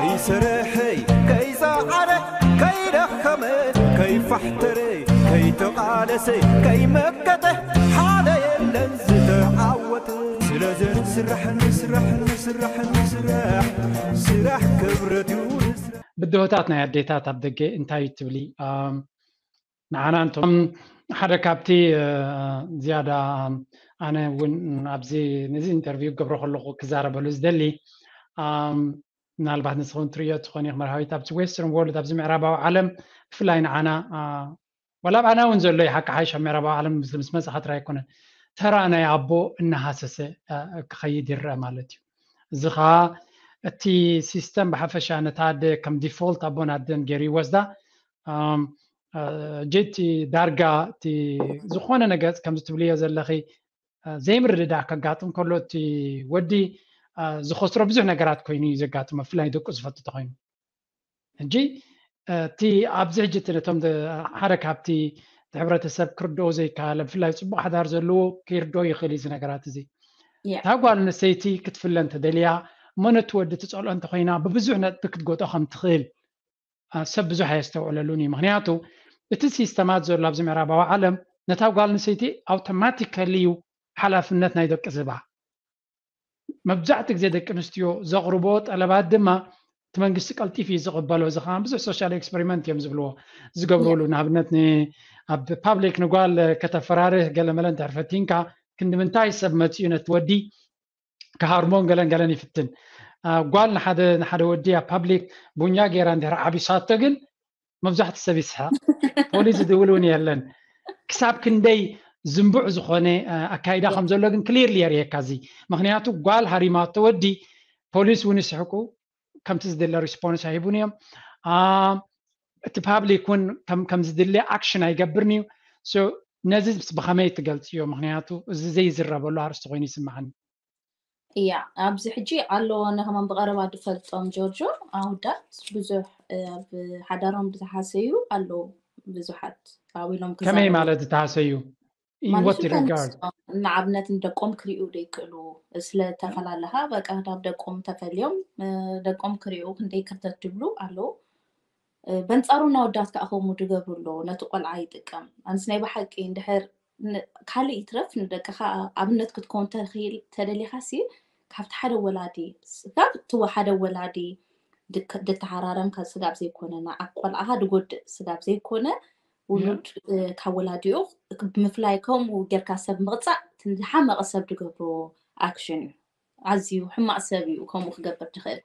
ይሰርሐይ ከይፀዓረ ከይደኸመ ከይፋሕተረ ከይተቓለሰ ከይመከተ ሓደ የለን ዝተዓወተ። ስለዚ ንስራሕ ንስራሕ ንስራሕ ንስራሕ ስራሕ ክብረት እዩ ንስራሕ። ብድሆታት ናይ ኣዴታት ኣብ ደገ እንታይ እዩ ትብሊ? ንዓና እንቶም ሓደ ካብቲ ዝያዳ ኣነ እውን ኣብዚ ነዚ ኢንተርቪው ክገብሮ ከለኹ ክዛረበሉ ዝደሊ ምናልባት ንስኹም ትርእዮ ትኾን ኢኹም መርሃዊት ኣብዚ ዌስተርን ወርልድ ኣብዚ ምዕራባዊ ዓለም ብፍላይ ንዓና ዋላ ኣብኣና እውን ዘሎ እዩ ሓቂ ሓይሽ ኣብ ምዕራባዊ ዓለም ምስ መፅኻ ጥራይ ኣይኮነን ተራ ናይ ኣቦ እናሃሰሰ ክኸይድ ይረአ ማለት እዩ። እዚ ከዓ እቲ ሲስተም ብሓፈሻ ነታ ኣደ ከም ዲፎልት ኣቦን ኣደን ገይሩ ይወስዳ። ጀቲ ዳርጋ እቲ ዝኾነ ነገር ከምዚ ትብልዮ ዘለኺ ዘይምርድዳእ ከጋጥም ከሎ እቲ ወዲ ዝኸስሮ ብዙሕ ነገራት ኮይኑ እዩ ዘጋጥሞ ብፍላይ ደቁ ዝፈቱ ተኮይኑ ሕጂ እቲ ኣብዚ ሕጂ እቲ ነቶም ሓደ ካብቲ እቲ ሕብረተሰብ ክርድኦ ዘይከኣለ ብፍላይ ፅቡቅ ሓዳር ዘለዎ ክርድኦ ይኽእል እዚ ነገራት እዚ እታ ጓል ኣንስተይቲ ክትፍለ እንተደልያ እሞ ነቲ ወዲ ትፀልኦ እንተኮይና ብብዙሕ ነጥቢ ክትጎጦ ከም ትኽእል ሰብ ብዙሕ ኣየስተውዕለሉን እዩ ምክንያቱ እቲ ሲስተማት ዘሎ ኣብዚ ምዕራባዊ ዓለም ነታ ጓል ኣንስተይቲ ኣውቶማቲካሊ እዩ ሓላፍነት ናይ ደቂ ዝባ መብዛሕቲ ግዜ ደቂ ኣንስትዮ ዘቕርቦ ጠለባት ድማ እቲ መንግስቲ ቀልጢፍ እዩ ዝቕበሎ እዚ ከዓ ብዙሕ ሶሻል ኤክስፐሪመንት እዮም ዝብልዎ ዝገብርሉ ንኣብነት ኣብ ፓብሊክ ንጓል ከተፈራርህ ገለመለ እንድሕር ፈቲንካ ክንዲ ምንታይ ሰብ መፅኡ ነቲ ወዲ ክሃርሞን ገለን ገለን ይፍትን ጓል ንሓደ ንሓደ ወዲ ኣብ ፓብሊክ ቡኛ ገይራ እንድሕር ዓቢሳቶ ግን መብዛሕቲ ሰብ ይስሓቅ ፖሊስ ዝድውል እውን የለን ክሳብ ክንደይ ዝንቡዕ ዝኾነ ኣካይዳ ከም ዘሎ ግን ክሊርሊ የርእየካ እዚ ምክንያቱ ጓል ሃሪማቶ ወዲ ፖሊስ እውን ይስሕቁ ከምቲ ዝድለ ሪስፖንስ ኣይህቡን እዮም እቲ ፓብሊክ እውን ከም ዝድለ ኣክሽን ኣይገብርን እዩ ነዚ ብከመይ ትገልፅዮ ምክንያቱ እዚ ዘይዝረበሉ ኣርስቲ ኮይኑ ይስምዓኒ እያ ኣብዚ ሕጂ ኣለዎ ነኸማን ብቐረባ ዝፈልጦም ጆርጆ ኣውዳት ብዙሕ ኣብ ሓዳሮም ብዝሓሰዩ ኣለዉ ብዙሓት ኣብሎም ከመይ ማለት ዝተሃሰዩ ንኣብነት ንደቆም ክሪኡ ዘይክእሉ ስለተፈላለኻ በቃ ናብ ደቆም ተፈልዮም ደቆም ክሪኡ ክንደይ ክርተት ትብሉ ኣለዉ በንፃሩ እናወዳት ከዓ ከምኡ ድገብሩ ኣለዉ ነቲ ቆልዓ ይጥቀም ኣንስ ናይ ብሓቂ እንድሕር ካልእ ይትረፍ ንደቅኻ ኣብነት ክትከውን ተደሊኻ ሲ ካብቲ ሓደ ወላዲ ስጋብ እቲ ሓደ ወላዲ ድተሃራረም ስጋብ ዘይኮነ ንዓብ ቆልዓኻ ድጎድእ ስጋብ ዘይኮነ ውሉድ ካብ ወላዲኡ ብምፍላይ ከምኡ ጌርካ ሰብ ምቕፃዕ ዝሓመቐ ሰብ ድገብሮ ኣክሽን እዩ ኣዝዩ ሕማቕ ሰብ እዩ ከምኡ ክገብር ትኽእል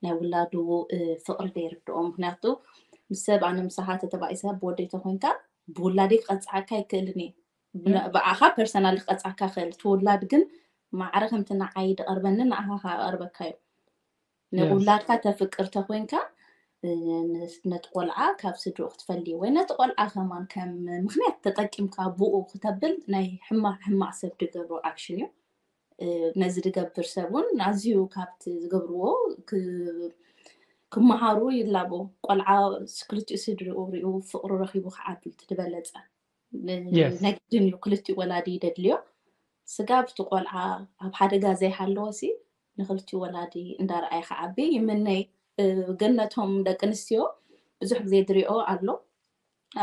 ናይ ውላዱ ፍቕሪ ዘይርድኦ ምክንያቱ ምስ ሰብ ኣነ ምሳኻ ተተባኢሰ ብወደይ ተኮይንካ ብውላደይ ክቐፅዓካ ኣይክእልን እየ ብኣኻ ፐርሰናል ክቐፅዓካ ክእል እቲ ውላድ ግን ማዕረ ከምቲ ንዓይ ዝቐርበኒ ንኣኻ ከቐርበካ እዩ ንውላድካ ተፍቅር ተኮይንካ ነቲ ቆልዓ ካብ ስድርኡ ክትፈሊ ወይ ነቲ ቆልዓ ከማን ከም ምክንያት ተጠቂምካ ብኡ ክተብል ናይ ሕማቅ ሕማቅ ሰብ ድገብሮ ኣክሽን እዩ ነዚ ዝገብር ሰብ እውን ኣዝዩ ካብቲ ዝገብርዎ ክመሃሩ ይላቦ ቆልዓ ክልቲኡ ስድርኡ ሪኡ ፍቅሩ ረኪቡ ክዓቢ እቲ ዝበለፀ ናይ ግድን እዩ ክልቲኡ ወላዲ ደድልዮ ስጋብ እቲ ቆልዓ ኣብ ሓደጋ ዘይሃለዎ ሲ ንክልቲኡ ወላዲ እንዳረኣየ ክዓቢ ይምነይ ግን ነቶም ደቂ ኣንስትዮ ብዙሕ ግዜ ድሪኦ ኣሎ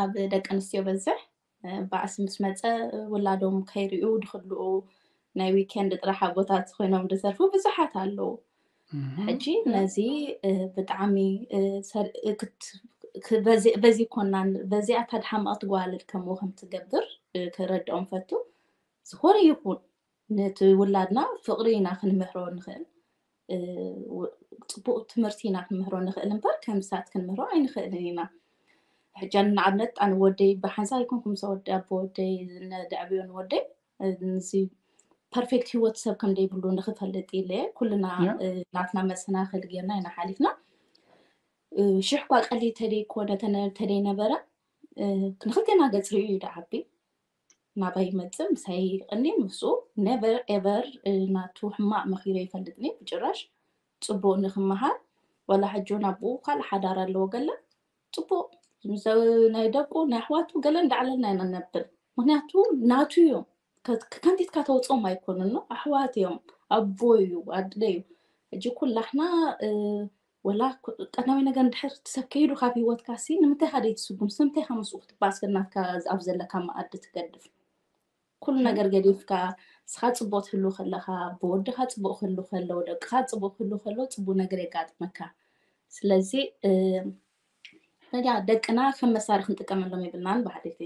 ኣብ ደቂ ኣንስትዮ በዝሕ ባእሲ ምስ መፀ ውላዶም ከይሪኡ ድክልኡ ናይ ዊኬንድ ጥራሕ ኣቦታት ኮይኖም ድተርፉ ብዙሓት ኣለዉ ሕጂ ነዚ ብጣዕሚ በዚ ኮናን በዚኣ ታድሓማቕ ትጓልል ከምኡ ከም ትገብር ክረድኦም ፈቱ ዝኾነ ይኹን ነቲ ውላድና ፍቕሪ ኢና ክንምህሮ ንኽእል ፅቡቅ ትምህርቲ ኢና ክንምህሮ ንኽእል እምበር ከም ሳት ክንምህሮ ኣይንኽእልን ኢና ሕጃን ንኣብነት ኣነ ወደይ ብሓንሳ ይኮንኩም ሰወዲ ኣቦ ወደይ ነድዕብዮ ንወደይ እዚ ፐርፌክት ህይወት ሰብ ከም ዘይብሉ ንክፈልጥ ኢለ ኩልና ናትና መሰናክል ጌርና ኢና ሓሊፍና ሽሕ ኳ ቀሊ ተደይኮነ ተደይነበረ ንክልቴና ገፅ ርእዩ እዩ ደዓቢ ናባይ ይመፅእ ምሳይ ይቀኒ ምስኡ never ever ናቱ ሕማቅ መኪረ ይፈልጥኒ ብጭራሽ ፅቡቅ ንክመሃር ዋላ ሕጂ እውን ኣቦኡ ካልእ ሓዳር ኣለዎ ገለ ፅቡቅ ናይ ደቁ ናይ ኣሕዋቱ ገለ እንዳዕለልና ኢና ነብል ምክንያቱ ናቱ እዮም ከንቲትካ ተውፅኦም ኣይኮኑን ኣሕዋት እዮም ኣቦ እዩ ኣድለ እዩ ሕጂ ኩላሕና ወላ ቀዳማይ ነገር እንድሕር እቲ ሰብ ከይዱ ካብ ሂወትካ ሲ ንምንታይ ካ ደይትስጉም? ስለምንታይ ካ ምስኡ ክትባስል ናትካ ኣብ ዘለካ መኣዲ ትገድፍ? ኩሉ ነገር ገዲፍካ ንስኻ ጽቡቕ ትህሉ ከለኻ፣ ብወድኻ ጽቡቕ ክህሉ ከሎ፣ ደቅኻ ጽቡቕ ክህሉ ከሎ ጽቡቕ ነገር የጋጥመካ። ስለዚ ያ ደቅና ከም መሳርሒ ክንጥቀመሎም የብልናን ብሓደይቲ።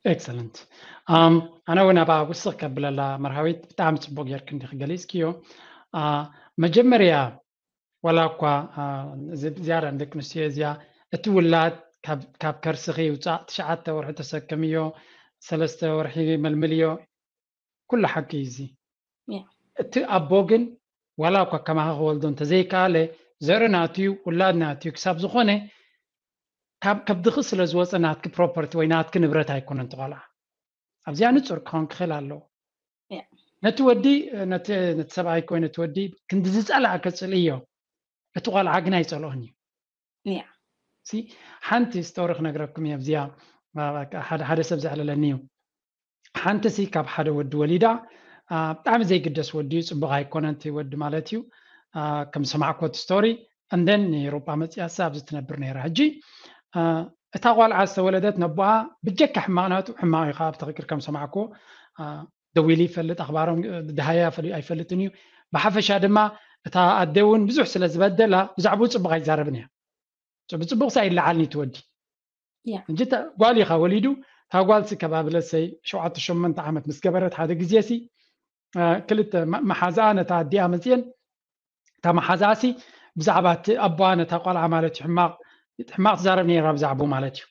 ኤክሰለንት። ኣነ እውን ኣብኣ ውስኽ ከብለላ መርሃዊት ብጣዕሚ ጽቡቕ ጌርክ እንዲኽ ገሊጽክዮ። መጀመርያ ዋላ እኳ ዝያዳ ንደቂ ኣንስትዮ እዚኣ እቲ ውላድ ካብ ከርስኺ ይውፃእ ትሽዓተ ወርሒ ተሰከምዮ፣ ሰለስተ ወርሒ መልምልዮ፣ ኩሉ ሓቂ እዩ። እዚ እቲ ኣቦ ግን ዋላ እኳ ከማኻ ክወልዶ እንተዘይከኣለ ዘርኢ ናትዩ ውላድ ናትዩ ክሳብ ዝኾነ ካብ ከብድኺ ስለ ዝወፀ ናትኪ ፕሮፐርቲ ወይ ናትኪ ንብረት ኣይኮነን። ትቆልዓ ኣብዚኣ ንፁር ክኸውን ክኽእል ኣለዎ። ነቲ ወዲ ነቲ ሰብኣይ ኮይ ነቲ ወዲ ክንዲ ዝፀላእ ከፅልእዮ እቲ ቆልዓ ግን ኣይፀልኦን እዩ። ሓንቲ ስቶሪ ክነግረኩም እየ ኣብዚኣ። ሓደ ሰብ ዘዕለለኒ እዩ። ሓንቲ ሲ ካብ ሓደ ወዲ ወሊዳ ብጣዕሚ ዘይግደስ ወዲ እዩ። ፅቡቕ ኣይኮነን እቲ ወዲ ማለት እዩ። ከም ሰማዕኮ እቲ ስቶሪ እንደን ንኤሮጳ መፅያ ሳ ኣብዚ ትነብር ነይራ። ሕጂ እታ ቆልዓ ዝተወለደት ነቦኣ ብጀካ ሕማቕ ናቱ ሕማቕ እዩ። ካብ ትኽክል ከም ሰማዕኮ ደዊሉ ይፈልጥ፣ ኣኽባሮም ደሃያ ኣይፈልጥን እዩ። ብሓፈሻ ድማ እታ ኣደ እውን ብዙሕ ስለ ዝበደላ ብዛዕባኡ ፅቡቕ ኣይዛረብን እያ። ብፅቡቕ ሳ ይለዓልኒ ትወዲ እንጂ ጓል ኢኻ ወሊዱ። እታ ጓል ሲ ከባቢ ለሰይ ሸውዓተ ሸሞንተ ዓመት ምስ ገበረት ሓደ ግዜ ሲ ክልተ መሓዛኣ ነታ ኣዲኣ መፅየን እታ መሓዛኣ ሲ ብዛዕባ እቲ ኣቦኣ ነታ ቆልዓ ማለት እዩ ሕማቕ ትዛረብ ነይራ ብዛዕባኡ ማለት እዩ።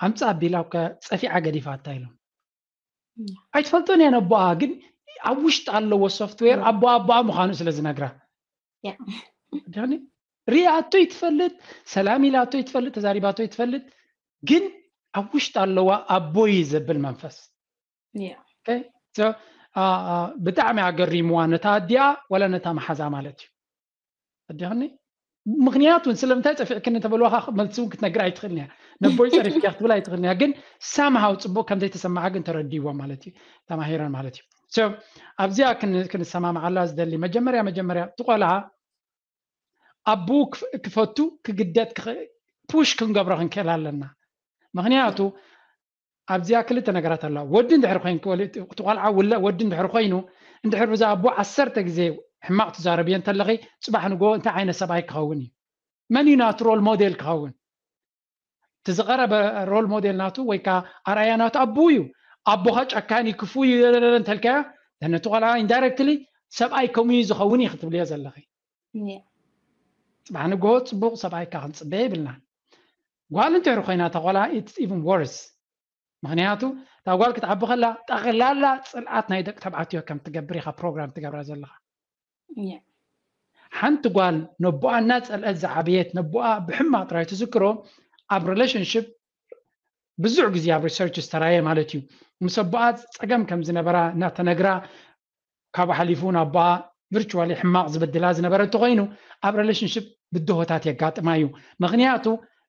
ኣምፃ ኣቢላ ጸፊዓ ገዲፋታ ኢሎም ኣይትፈልጦን እያ ነቦኣ፣ ግን ኣብ ውሽጢ ኣለዎ ሶፍትዌር ኣቦኣ ኣቦኣ ምዃኑ ስለ ዝነግራ ሪኣቶ ይትፈልጥ፣ ሰላም ኢላቶ ይትፈልጥ፣ ተዛሪባቶ ይትፈልጥ፣ ግን ኣብ ውሽጢ ኣለዋ ኣቦይ ዘብል መንፈስ። ብጣዕሚ ኣገሪምዋ ነታ ኣዲኣ ወላ ነታ መሓዛ ማለት እዩ። ኣዲኽኒ ምክንያቱ ስለምንታይ ፀፊዕክኒ ተበልዋካ መልሲ እውን ክትነግር ኣይትኽእልን እያ። ነቦይ ፀሪፍኪያ ክትብል ኣይትኽእልን እያ። ግን ሳምሃው ፅቡቅ ከምዘይተሰማዓ ግን ተረዲዋ ማለት እዩ፣ ተማሂረን ማለት እዩ። ኣብዚኣ ክንሰማማዓላ ዝደሊ መጀመርያ መጀመርያ እቲ ቆልዓ ኣቡ ክፈቱ ክግደት ፑሽ ክንገብሮ ክንክእል ኣለና። ምክንያቱ ኣብዚኣ ክልተ ነገራት ኣለዋ። ወዲ እንድሕር ኮይንኪ እቲ ቆልዓ ውለ ወዲ እንድሕር ኮይኑ እንድሕር ብዛ ኣቦ ዓሰርተ ግዜ ሕማቕ ትዛረብዮ እንተለኺ ፅባሕ ንጎ እንታይ ዓይነት ሰብኣይ ክኸውን እዩ? መን እዩ ናቱ ሮል ሞዴል ክኸውን? እቲ ዝቐረበ ሮል ሞዴል ናቱ ወይ ከዓ ኣርኣያ ናቱ ኣቦ እዩ። ኣቦኻ ጨካን እዩ ክፉ እዩ እንተልካያ ነቲ ቆልዓ ኢንዳይረክትሊ ሰብኣይ ከምኡ እዩ ዝኸውን እዩ ክትብልዮ ዘለኺ። ፅባሕ ንጎ ፅቡቕ ሰብኣይ ካ ክንፅበ የብልናን። ጓል እንድሕር ኮይና እታ ቆልዓ it's even worse። ምክንያቱ እታ ጓል ክትዓቢ ከላ ጠቕላላ ፅልኣት ናይ ደቂ ተባዕትዮ ከም ትገብር ኢካ ፕሮግራም ትገብራ ዘለካ። ሓንቲ ጓል ነቦኣ እናፀልአት ዝዓበየት ነቦኣ ብሕማቅ ጥራይ ትዝክሮ ኣብ ሪሌሽንሽፕ ብዙሕ ግዜ ኣብ ሪሰርች ዝተራየ ማለት እዩ። ምስ ኣቦኣ ፀገም ከም ዝነበራ እናተነግራ ካብኡ ሓሊፉ እውን ኣቦኣ ቪርቹዋሊ ሕማቕ ዝበድላ ዝነበረ እንተኮይኑ ኣብ ሪሌሽንሽፕ ብድሆታት የጋጥማ እዩ። ምክንያቱ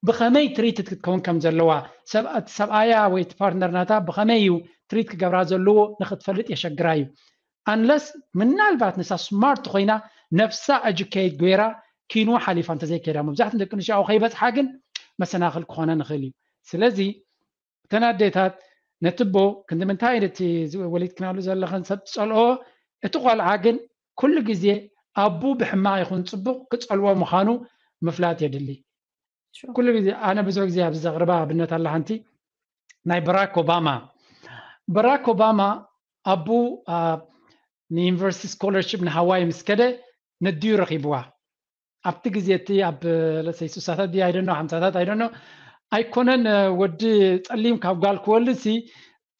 ብከመይ ትሪት ክትከውን ከም ዘለዋ ሰብኣያ ወይ ፓርትነር ናታ ብከመይ እዩ ትሪት ክገብራ ዘለዎ ንክትፈልጥ የሸግራ እዩ። ኣንለስ ምናልባት ንሳ ስማርት ኮይና ነፍሳ ኤጁኬት ገይራ ኪኑ ሓሊፋ እንተዘይከይዳ መብዛሕትኡ ደቂ ኣንስትዮ ኣብኡ ከይበፅሓ ግን መሰናክል ክኾነ ንኽእል እዩ። ስለዚ እተን ኣዴታት ነቲ ኣቦ ክንዲ ምንታይ ነቲ ወሊድክናሉ ዘለኽን ሰብ ትፀልኦ፣ እቲ ቆልዓ ግን ኩሉ ግዜ ኣቡ ብሕማቕ ይኹን ፅቡቕ ክፀልኦ ምዃኑ ምፍላጥ የድሊ። ኩሉ ግዜ ኣነ ብዙሕ ግዜ ኣብዚ ዘቕርባ ኣብነት ኣላ ሓንቲ ናይ በራክ ኦባማ። በራክ ኦባማ ኣቡ ንዩኒቨርሲቲ ስኮለርሽፕ ንሃዋይ ምስ ከደ ነዲኡ ረኺብዋ። ኣብቲ ግዜ እቲ ኣብ ለሰይ ሱሳታት ድዩ ኣይደኖ ሓምሳታት ኣይደኖ ኣይኮነን ወዲ ፀሊም ካብ ጓል ክወልድ ሲ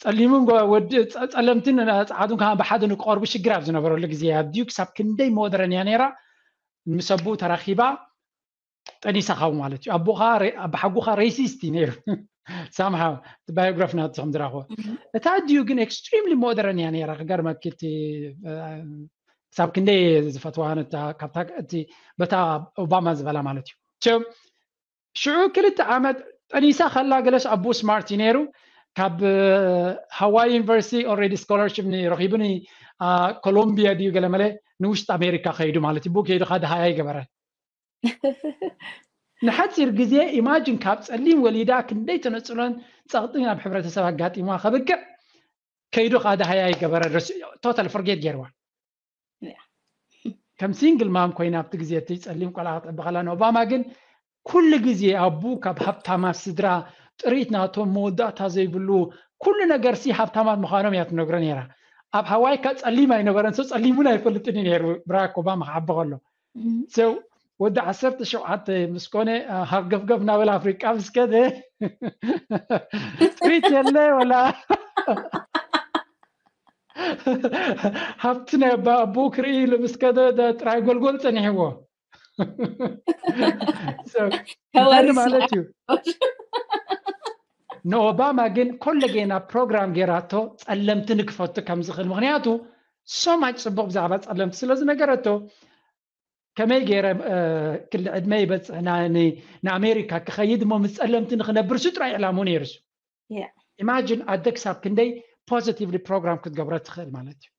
ፀሊምን ወዲ ፀለምትን ፀዓዱን ከ ብሓደ ንክቐርቡ ሽግር ኣብ ዝነበረሉ ግዜ ኣብ ድዩ ክሳብ ክንደይ ሞደረን እያ ነይራ። ምስ ኣቡኡ ተራኺባ ጠኒሳ ካብኡ ማለት እዩ። ኣቦኻ ኣባሓጎኻ ሬሲስት እዩ ነይሩ ሳምሃው ባዮግራፊ ናቱ ከም ዝረኽቦ እታ ድዩ ግን ኤክስትሪምሊ ሞደረን እያ ነይራ። ክገርመኪ እቲ ክሳብ ክንደይ ዝፈትዋ ነታ ካብታ እቲ በታ ኦባማ ዝበላ ማለት እዩ። ሽዑ ክልተ ዓመት ጠኒሳ ከላ ገለስ ኣቦ ስማርት እዩ ነይሩ። ካብ ሃዋይ ዩኒቨርሲቲ ኦልሬዲ ስኮላርሽፕ ረኪቡ ኮሎምቢያ ድዩ ገለመለ ንውሽጢ ኣሜሪካ ከይዱ ማለት እዩ። ብኡ ከይዱ ካደ ሃያ ይገበረ። ንሓፂር ግዜ ኢማጅን ካብ ፀሊም ወሊዳ ክንደይ ተነፅሎን ፀቕጥን ኣብ ሕብረተሰብ ኣጋጢምዋ ከብቅዕ ከይዱ ከዓ ደሃያ ይገበረ ቶታል ፎርጌት ገይርዋ። ከም ሲንግል ማም ኮይና ኣብቲ ግዜ እቲ ፀሊም ቆልዓ ክትዕቢ ከላ ንኦባማ ግን ኩሉ ግዜ ኣቡ ካብ ሃብታማት ስድራ ጥሪት ናቶም መወዳእታ ዘይብሉ ኩሉ ነገር ሲ ሃብታማት ምዃኖም እያ ትነግሮ ነይራ። ኣብ ሃዋይ ካ ፀሊም ኣይነበረን ሰው ፀሊም እውን ኣይፈልጥን እዩ ነይሩ ብራክ ኦባማ ክዓቢ ከሎ ሰው ወዲ ዓሰርተ ሸውዓተ ምስ ኮነ ሃርገፍገፍ ናበል ኣፍሪቃ ምስ ከደ ጥሪት የለ ወላ ሃብቲ ናይ ኣቦኡ ክርኢ ኢሉ ምስ ከደ ጥራይ ጎልጎል ፀኒሕዎ ማለት እዩ። ንኦባማ ግን ኮለጌና ፕሮግራም ገይራቶ ፀለምቲ ንክፈቱ ከም ዝኽእል ምክንያቱ ሶማች ፅቡቅ ብዛዕባ ፀለምቲ ስለ ዝነገረቶ ከመይ ገይረ ክሊ ዕድመ ይበፅሕ ንኣሜሪካ ክኸይድ እሞ ምስ ፀለምቲ ንክነብር ሱ ጥራይ ዕላሙ ነይሩ ሱ ኢማጂን ኣደ ክሳብ ክንደይ ፖዚቲቭሊ ፕሮግራም ክትገብረ ትኽእል ማለት እዩ።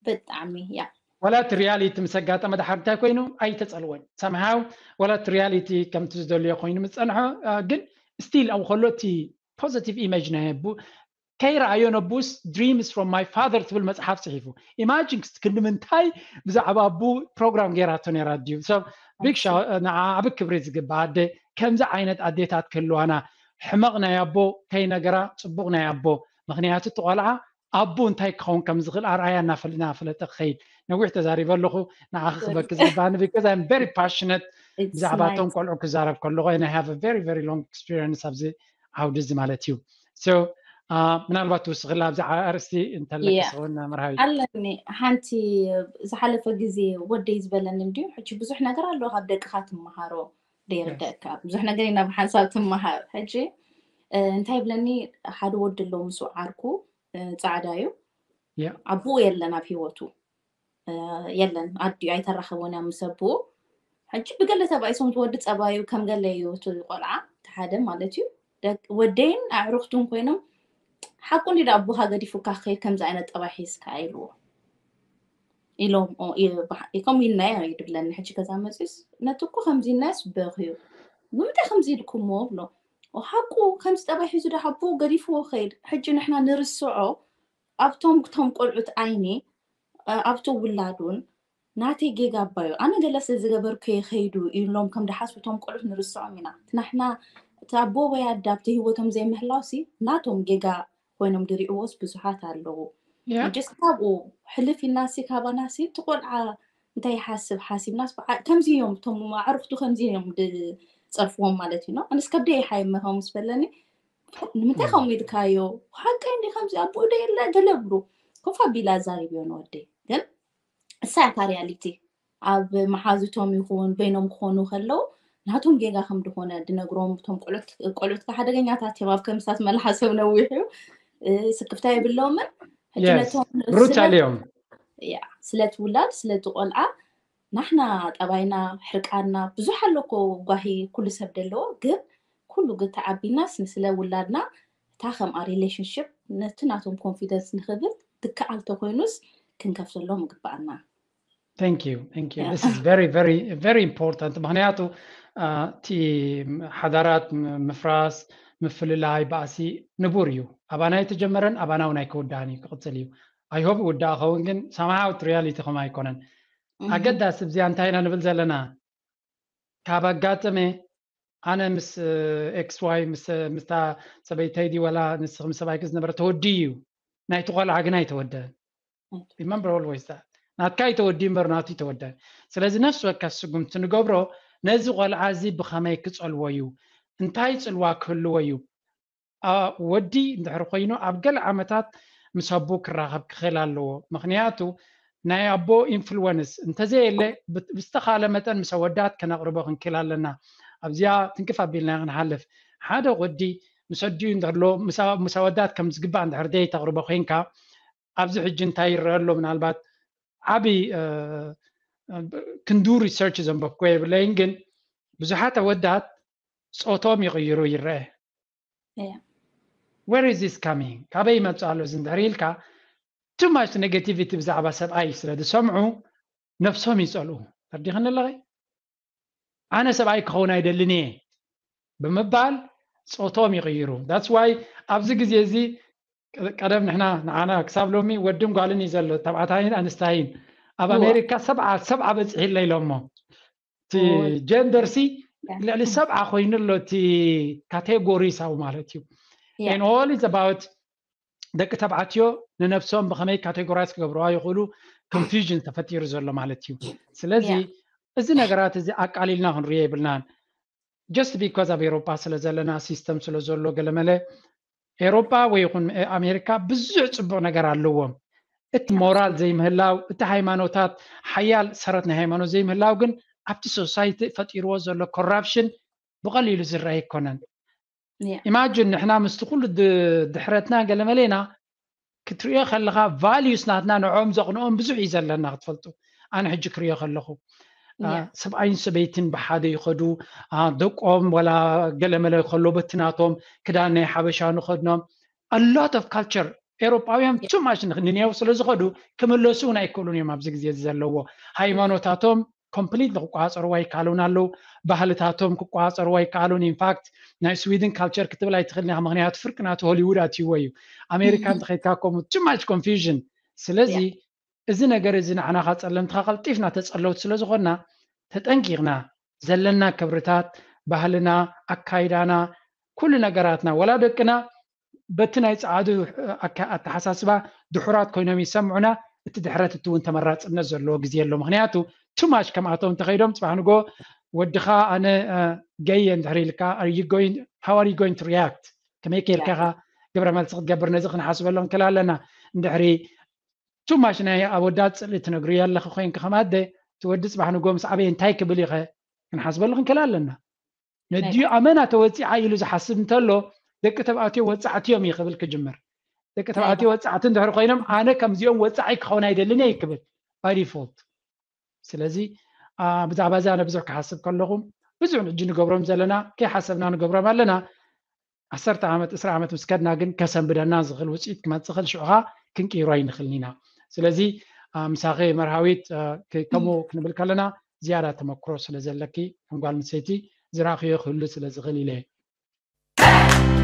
ብጣዕሚ ያ ወላ እቲ ሪያሊቲ ምስ ኣጋጠመ ድሓር እንታይ ኮይኑ ኣይተፀልወን ሰምሃው ወላ እቲ ሪያሊቲ ከምቲ ዝደልዮ ኮይኑ ምስ ፀንሖ ግን ስቲል ኣብኡ ከሎ እቲ ፖዚቲቭ ኢሜጅ ናይ ኣቡ ከይረኣዮ ነቡስ dreams from my father ትብል መፅሓፍ ፅሒፉ ኢማጂን ክንዲ ምንታይ ብዛዕባ ኣቡ ፕሮግራም ገይራቶ ነይራ ድዩ ሰብ ቢግ ሻ ንዓ ዓብ ክብሪ ዝግባ ኣደ ከምዚ ዓይነት ኣዴታት ክህልዋና ሕመቕ ናይ ኣቦ ከይነገራ ፅቡቕ ናይ ኣቦ ምክንያቱ እቲ ቆልዓ ኣቦ እንታይ ክኸውን ከም ዝኽእል ኣርኣያ እናፈለጠ ክኸይድ ነዊሕ ተዛሪበ ኣለኹ ንዓ ክበኪ ዝግባኒ because I'm very passionate ብዛዕባቶም ቆልዑ ክዛረብ ከለኹ and I have a very very long experience ኣብዚ ዓውዲ እዚ ማለት እዩ so ምናልባት ትውስኽላ ኣብዚ ኣርእስቲ እንተለክስውን መርሃዊ ኣለኒ ሓንቲ ዝሓለፈ ግዜ ወደይ ዝበለኒ እንድዩ ሕጂ ብዙሕ ነገር ኣለዎ ካብ ደቅኻ ትመሃሮ ዘይርደእካ ብዙሕ ነገር ናብ ሓንሳብ ትመሃር ሕጂ እንታይ ይብለኒ ሓደ ወዲ ኣለዎ ምስ ዓርኩ ፃዕዳ እዩ ኣቦኡ የለን ኣብ ሂወቱ የለን ኣዲኡ ኣይተራኸቦን እያ ምስ ኣቦኡ ሕጂ ብገለ ተባኢሶም እቲ ወዲ ፀባዩ ከም ገለ እዩ እቲ ቆልዓ እቲ ሓደ ማለት እዩ ወደይን ኣዕሩኽቱን ኮይኖም ሓቁ እንዲ ኣቦኻ ገዲፉካ ክኸይድ ከምዚ ዓይነት ጠባይ ሒዝካ ኢልዎ ኢሎም ከምኡ ኢልናዮ እዩ ድብለኒ ሕጂ ገዛ መፅስ ነቲ እኮ ከምዚ ኢልናዮስ በኽዩ ንምንታይ ከምዚ ኢልኩሞ ብሎ ሓቁ ከምዚ ጠባይ ሒዙ ዶ ሓቦ ገዲፍዎ ከይድ ሕጂ ንሕና ንርስዖ ኣብቶም ክቶም ቆልዑት ዓይኒ ኣብቲ ውላዱን ናተይ ጌጋ ኣባዩ ኣነ ገለ ስለ ዝገበርኩ ከይዱ ኢሎም ከም ድሓስቡ እቶም ቆልዑት ንርስዖም ኢና ናሕና እቲ ኣቦ ወይ ኣዳ ኣብቲ ህይወቶም ዘይምህላው ሲ ናቶም ጌጋ ኮይኖም ድሪእዎስ ብዙሓት ኣለዉ ሕጂ ካብኡ ሕልፍ ኢልናሲ ካባናሲ እቲ ቆልዓ እንታይ ይሓስብ ሓሲብናስ ከምዚ እዮም እቶም ኣዕሩኽቱ ከምዚ እዮም ዝፀርፍዎም ማለት እዩ ኣነስ ከብደ ይሓይመኸም ምስ በለኒ ንምንታይ ከምኡ ኢልካዮ ሓቀይ እንዲ ከምዚ ኣቦኡ ዶ የለ ገለ ብሉ ኮፍ ኣቢላ ኣዛሪብዮ ንወደይ ግን እሳ እያ ሪያሊቲ ኣብ መሓዙቶም ይኹን በይኖም ክኾኑ ከለዉ ናቶም ጌጋ ከም ዝኾነ ድነግሮም እቶም ቆልዑት ሓደገኛታት እዮም ኣብ ከምሳት መልሓሶም ነዊሕ እዩ ስክፍታ የብሎምን ብሩታል እዮም ስለቲ ውላድ ስለቲ ቆልዓ ናሕና ጠባይና ሕርቃና ብዙሕ ኣለኮ ጓሂ ኩሉ ሰብ ደለዎ ግን ኩሉ ግተዓቢናስ ንስለ ውላድና እታ ከምኣ relationship ነቲ ናቶም confidence ንኽብል ትከኣል ተኮይኑስ ክንከፍተሎም ይግበኣና Thank you, thank you. This is very, very, very important. ምክንያቱ እቲ ሓዳራት ምፍራስ ምፍልላይ ባእሲ ንቡር እዩ። ኣባና የተጀመረን ኣባና እውን ኣይክውዳእን እዩ ክቕፅል እዩ። I hope ይውዳእ ኸውን ግን somehow reality ከም ኣይኮነን። ኣገዳሲ እዚኣ እንታይ ኢና ንብል ዘለና ካብ ኣጋጠመ ኣነ ምስ ኤክስ ዋይ ምስታ ሰበይተይ ድዩ ወላ ንስኺ ምስ ሰብኣይኪ ዝነበረ ተወዲ እዩ ናይቲ ቆልዓ ግን ኣይተወደን remember always that ናትካ ይተወዲ እምበር ናቱ ይተወደ ስለዚ ነፍሲ ወከፍ ስጉምቲ ንገብሮ ነዚ ቆልዓ እዚ ብኸመይ ክጸልዎ እዩ እንታይ ጽልዋ ክህልዎ እዩ ወዲ እንድሕር ኮይኑ ኣብ ገለ ዓመታት ምስ ኣቦ ክራኸብ ክኽእል ኣለዎ ምኽንያቱ ናይ ኣቦ ኢንፍሉወንስ እንተዘየለ ብዝተኻለ መጠን ምስ ኣወዳት ከነቕርቦ ክንክእል ኣለና ኣብዚኣ ትንክፍ ኣቢልና ክንሓልፍ ሓደ ወዲ ምስ ኣዲኡ እንድሕርሎ ምስ ኣወዳት ከም ዝግባእ እንድሕር ደይ ተቕርቦ ኮይንካ ኣብዚ ሕጂ እንታይ ይረአ ኣሎ ምናልባት ዓብይ ክንዱ ሪሰርች ዘንበብኩ የብለይን ግን ብዙሓት ኣወዳት ፆቶም ይቕይሩ ይረአ where is this coming ካበይ ይመፅእ ኣሎ እዚ እንድሕር ኢልካ too much negativity ብዛዕባ ሰብኣይ ስለ ዝሰምዑ ነብሶም ይፀልኡ ተርዲኽኒ ኣለኸ ኣነ ሰብኣይ ክኸውን ኣይደልን እየ ብምባል ፆቶም ይቕይሩ። That's why ኣብዚ ግዜ እዚ ቀደም ንሕና ንዓና ክሳብ ሎሚ ወድን ጓልን እዩ ዘሎ፣ ተባዕታይን ኣንስታይን። ኣብ ኣሜሪካ ሰብዓ ሰብዓ በፂሑ ኣሎ ኢሎሞ። እቲ ጀንደር ሲ ልዕሊ ሰብዓ ኮይኑ ኣሎ፣ እቲ ካቴጎሪ ሳው ማለት እዩ። And all is about ደቂ ተባዕትዮ ንነብሶም ብኸመይ ካቴጎራይዝ ክገብርዋ ይኽእሉ፣ ኮንፊውዥን ተፈጢሩ ዘሎ ማለት እዩ። ስለዚ እዚ ነገራት እዚ ኣቃሊልና ክንሪኦ የብልናን። Just because ኣብ ኤሮፓ ስለ ዘለና፣ ሲስተም ስለ ዘሎ፣ ገለመለ ኤሮፓ ወይ ይኹን ኣሜሪካ ብዙሕ ፅቡቕ ነገር ኣለዎም። እቲ ሞራል ዘይምህላው፣ እቲ ሃይማኖታት፣ ሓያል ሰረት ናይ ሃይማኖት ዘይምህላው ግን ኣብቲ ሶሳይቲ ፈጢርዎ ዘሎ ኮራፕሽን ብቐሊሉ ዝረአ ኣይኮነን። ኢማጅን ንሕና ምስቲ ኩሉ ድሕረትና ገለመለ ኢና ክትሪኦ ከለኻ፣ ቫልዩስ ናትና ንዕኦም ዘቕንኦም ብዙሕ እዩ ዘለና ክትፈልጡ። ኣነ ሕጂ ክሪኦ ከለኹ ሰብኣይን ሰበይትን ብሓደ ይኸዱ፣ ደቆም ወላ ገለመለ ከሎ በቲ ናቶም ክዳን ናይ ሓበሻ ንኸድኖም። A lot of culture ኤሮጳውያን too much ንኒው ስለ ዝኸዱ ክምለሱ እውን ኣይክእሉን እዮም። ኣብዚ ግዜ እዚ ዘለዎ ሃይማኖታቶም ኮምፕሊት ክቋፀርዋ ይከኣሉን ኣለዉ። ባህልታቶም ክቋፀርዋ ይከኣሉን። ኢንፋክት ናይ ስዊድን ካልቸር ክትብል ኣይትኽእልን ኢኻ፣ ምኽንያቱ ፍርቂ ናቱ ሆሊውድ ኣትይዎ እዩ። ኣሜሪካ እንተኸይድካ ከምኡ too much confusion። ስለዚ እዚ ነገር እዚ ንዓና ካብ ጸለምትኻ ቀልጢፍና ተጸለውቲ ስለ ዝኾንና ተጠንቂቕና ዘለና ክብርታት፣ ባህልና፣ ኣካይዳና፣ ኩሉ ነገራትና ወላ ደቅና በቲ ናይ ጸዓዱ ኣተሓሳስባ ድሑራት ኮይኖም ይሰምዑና፣ እቲ ድሕረት እቲ እውን ተመራጽነት ዘለዎ ግዜ ኣሎ። ምክንያቱ too much ከምኣቶም እንተኸይዶም ጽባሕ ንጎ ወድኻ ኣነ ገየ እንድሕር ኢልካ how are you going to react? ከመይ ከይልካ ኢኻ ግብረ መልሲ ክትገብር? ነዚ ክንሓስበሉ ንክእል ኣለና። እንድሕሪ too much ናይ ኣወዳት ጽልኢ ትነግርዮ ኣለኺ ኮይንኪ ከም ኣደ፣ እቲ ወዲ ጽባሕ ንጎ ምስ ዓበየ እንታይ ክብል ኢኸ ክንሓስበሉ ክንክእል ኣለና። ነዲኡ ኣመና ተወጺዓ ኢሉ ዝሓስብ እንተሎ ደቂ ተባዕትዮ ወጻዕቲ እዮም እዩ ክብል ክጅምር። ደቂ ተባዕትዮ ወጻዕቲ እንድሕር ኮይኖም ኣነ ከምዚኦም ወጻዒ ክኸውን ኣይደልን እየ ክብል by default። ስለዚ ብዛዕባ እዚ ኣነ ብዙሕ ክሓስብ ከለኹ ብዙሕ ሕጂ ንገብሮም ዘለና ከይሓሰብና ንገብሮም ኣለና። ዓሰርተ ዓመት ዕስራ ዓመት ምስ ከድና ግን ከሰንብደና ዝኽእል ውፅኢት ክመፅእ ክእል ሽዑኻ ክንቅይሮ ኣይንኽእልን ኢና። ስለዚ ምሳኺ መርሃዊት ከምኡ ክንብል ከለና ዝያዳ ተመክሮ ስለ ዘለኪ ከም ጓል ኣንስተይቲ ዝረኣኽዮ ክህሉ ስለ ዝኽእል ኢለ እየ።